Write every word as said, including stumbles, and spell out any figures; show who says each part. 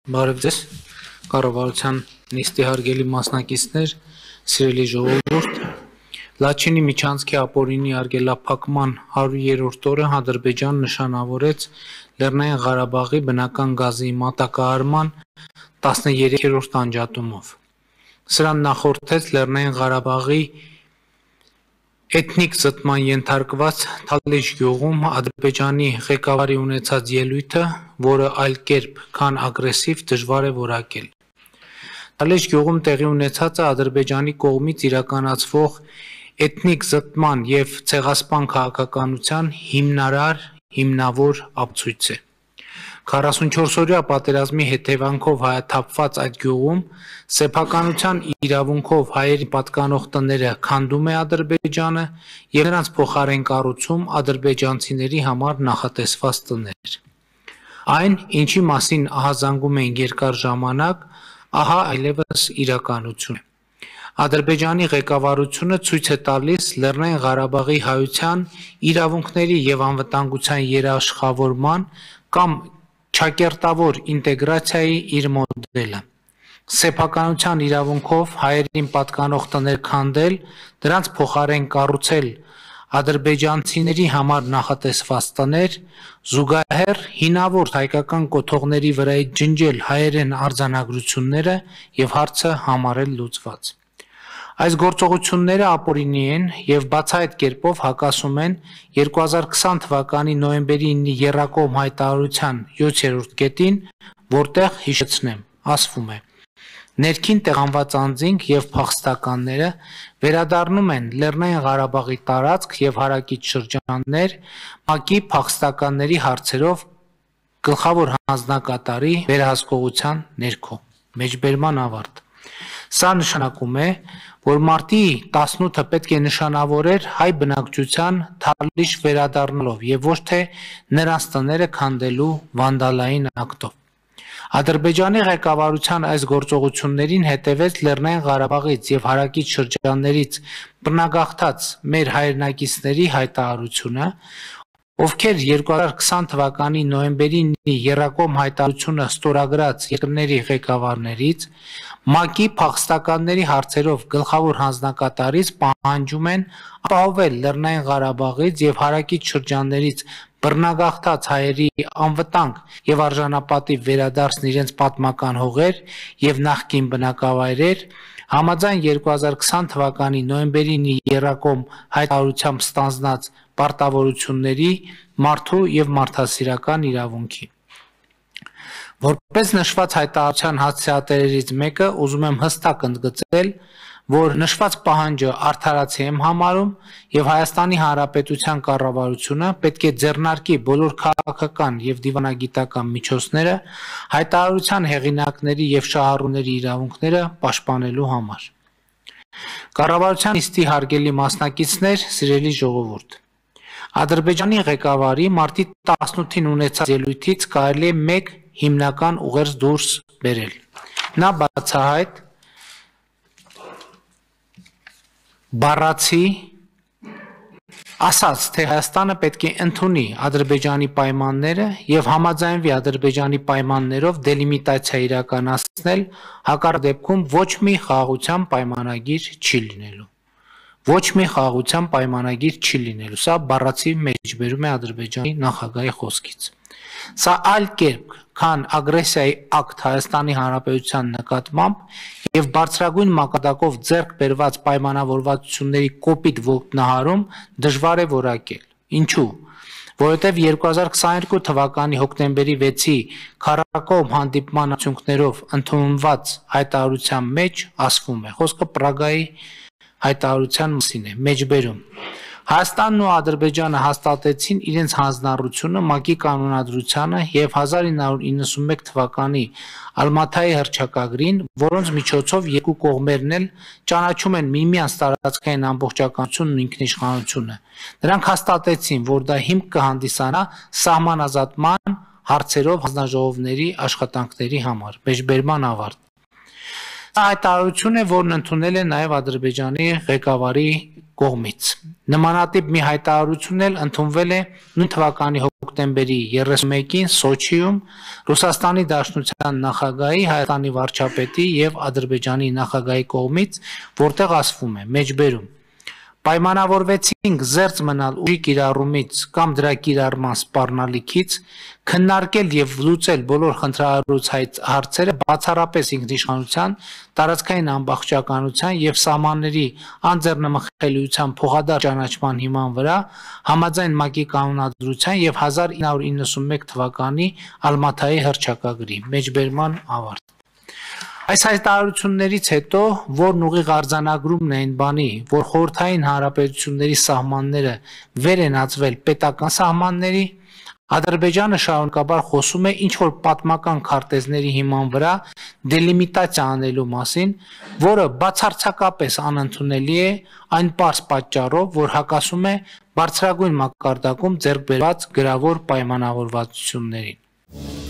Speaker 1: Բարև ձեզ, կառավարության նիստի հարգելի մասնակիցներ, սիրելի ժողովուրդ, Լաչինի միջանցքի ապօրինի արգելափակման հարյուրերորդ օրը Ադրբեջան նշանավորեց Լեռնային Ղարաբաղի բնական գազի մատակարարման տասներեքերորդ անջատումով։ Սրան նախորդեց Լեռնային Ղարաբաղի էթնիկ զտման ենթարկված Թալիշ գյուղում Ադրբեջանի ղեկավարի ունեցած ելույթը, որը այլ կերպ, քան ագրեսիվ, դժվար է որակել։ Թալիշ գյուղում տեղի ունեցածը Ադրբեջանի կողմից իրականացվող էթնիկ զտման և ցեղասպան քաղաքականության հիմնարար, հիմնավոր ապացույց է։ քառասունչորսօրյա պատերազմի հետևանքով հայաթափված այդ գյուղում սեփականության իրավունքով հայերին պատկանող տները քանդում է Ադրբեջանը և նրանց փոխարեն կառուցում ադրբեջանցիների համար նախատեսված տներ։ Այն, ինչի մասին ահազանգում ենք երկար ժամանակ, ահա այլևս իրականություն է։ Ադրբեջանի ղեկավարությունը ցույց է տալիս Լեռնային Ղարաբաղի հայության իրավունքների և անվտանգության երաշխավորման կամ ճակերտավոր ինտեգրացիայի իր մոդելը։ Սեփականության իրավունքով հայերին պատկանող տներ քանդել, դրանց փոխարեն կառուցել ադրբեջանցիների համար նախատեսված տներ, զուգահեռ հինավուրց հայկական կոթողների վրայից ջնջել հայերեն արձանագրությունները և հարցը համարել լուծված։ Այս գործողությունները ապօրինի են և բացահայտ կերպով հակասում են երկու հազար քսան թվականի նոյեմբերի իննի եռակողմ հայտարարության յոթերորդ կետին, որտեղ, հիշեցնեմ, ասվում է. ներքին տեղանված անձինք և փախստականները վերադառնում են Լեռնային Ղարաբաղի տարածք և հարակից շրջաններ ՄԱԿ-ի փախստականների հարցերով գլխավոր հանձնակատարի վերահսկողության ներքո։ Մեջբերման ավարտ։ Սա նշանակում է, որ մարտի տասնութը պետք է նշանավորեր հայ բնակչության Թալիշ վերադառնալով և ոչ թե նրանց տները քանդելու վանդալային ակտով։ Ադրբեջանի ղեկավարության այս գործողություններին հետևեց Լեռնային Ղարաբաղից և հարակից շրջաններից բռնագաղթած մեր հայրենակիցների հայտարարությունը, ովքեր երկու հազար քսան թվականի նոյեմբերի իննի եռակողմ հայտարարությունը ստորագրած երկրների ղեկավարներից ՄԱԿ-ի փախստականների հարցերով գլխավոր հանձնակատարից պահանջում են ապահովել Լեռնային Ղարաբաղից և հարակից շրջաններից բռնագաղթած հայերի անվտանգ և արժանապատիվ վերադարձն իրենց պատմական հողեր և նախկին բնակավայրեր, համաձայն երկու հազար քսան թվականի նոյեմբերի իննի եռակողմ հայտարարությամբ ստանձնած պարտավորությունների, մարդու և մարդասիրական իրավունքի։ Որպես նշված հայտարարության հասցեատերերից մեկը ուզում եմ հստակ ընդգծել, որ նշված պահանջը արդարացի եմ համարում և Հայաստանի Հանրապետության կառավարությունը պետք է ձեռնարկի բոլոր քաղաքական և դիվանագիտական միջոցները հայտարարության հեղինակների և շահառուների իրավունքները պաշտպանելու համար։ Կառավարության նիստի հարգելի մասնակիցներ, սիրելի ժողովուրդ, Ադրբեջանի ղեկավարի մարտի տասնութին ունեցած ելույթից կարելի է մեկ հիմնական ուղերձ դուրս բերել։ Նա բացահայտ բառացի ասաց, թե Հայաստանը պետք է ընդունի Ադրբեջանի պայմանները և համաձայնվի Ադրբեջանի պայմաններով դելիմիտացիա իրականացնել, հակառակ դեպքում ոչ մի խաղաղության պայմանագիր չի լինելու։ Ոչ մի խաղաղության պայմանագիր չի լինելու։ Սա բառացի մեջբերում է Ադրբեջանի նախագահի խոսքից։ Սա այլ կերպ, քան ագրեսիայի ակտ Հայաստանի Հանրապետության նկատմամբ և բարձրագույն մակարդակով ձեռք բերված պայմանավորվածությունների կոպիտ ոտնահարում դժվար է որակել։ Ինչու՞։ Որովհետև երկու հազար քսաներկու թվականի հոկտեմբերի վեցի քառակողմ հանդիպման արդյունքներով ընդունված հայտարարության մեջ ասվում է, խոսքը Պրագայի հայտարարության մասին է, մեջբերում. Հայաստանն ու Ադրբեջանը հաստատեցին իրենց հանձնառությունը ՄԱԿ-ի կանոնադրությանը և հազար ինը հարյուր իննսունմեկ թվականի Ալմաթայի հռչակագրին, որոնց միջոցով երկու կողմերն էլ ճանաչում են միմյանց տարածքային ամբողջականությունն ու ինքնիշխանությունը։ Նրանք հաստատեցին, որ դա հիմք կհանդիսանա սահմանազատման հարցերով հանձնաժողովների աշխատանքների համար։ Մեջբերման ավարտ։ Սա հայտարարություն է, որն ընդունել է նաև Ադրբեջանի ղեկավարի կողմից։ Նմանատիպ մի հայտարարություն էլ ընդունվել է նույն թվականի հոկտեմբերի երեսունմեկին Սոչիում Ռուսաստանի Դաշնության նախագահի, Հայաստանի վարչապետի եւ Ադրբեջանի նախագահի կողմից, որտեղ ասվում է. մեջբերում պայմանավորվեցինք զերծ մնալ ուժի կիրառումից կամ դրա կիրառման սպառնալիքից, քննարկել եւ լուծել բոլոր խնդրահարույց հարցերը բացառապես ինքնիշխանության, տարածքային ամբողջականության եւ սահմանների անձեռնմխելիության փոխադարձ ճանաչման հիման վրա համաձայն ՄԱԿ-ի կանոնադրության եւ հազար ինը հարյուր իննսունմեկ թվականի Ալմաթայի հռչակագրի մեջբերման ավարտ։ Այս հայտարարություններից հետո, որն ուղիղ արձանագրումն է այն բանի, որ խորհրդային հանրապետությունների սահմանները վեր են ածվել պետական սահմանների, Ադրբեջանը շարունակաբար խոսում է ինչ-որ պատմական քարտեզների հիման վրա դելիմիտացիա անելու մասին, որը բացարձակապես անընդունելի է այն պարզ պատճառով, որ հակասում է բարձրագույն մակարդակում ձեռք բերված գրավոր պայմանավորվածություններին։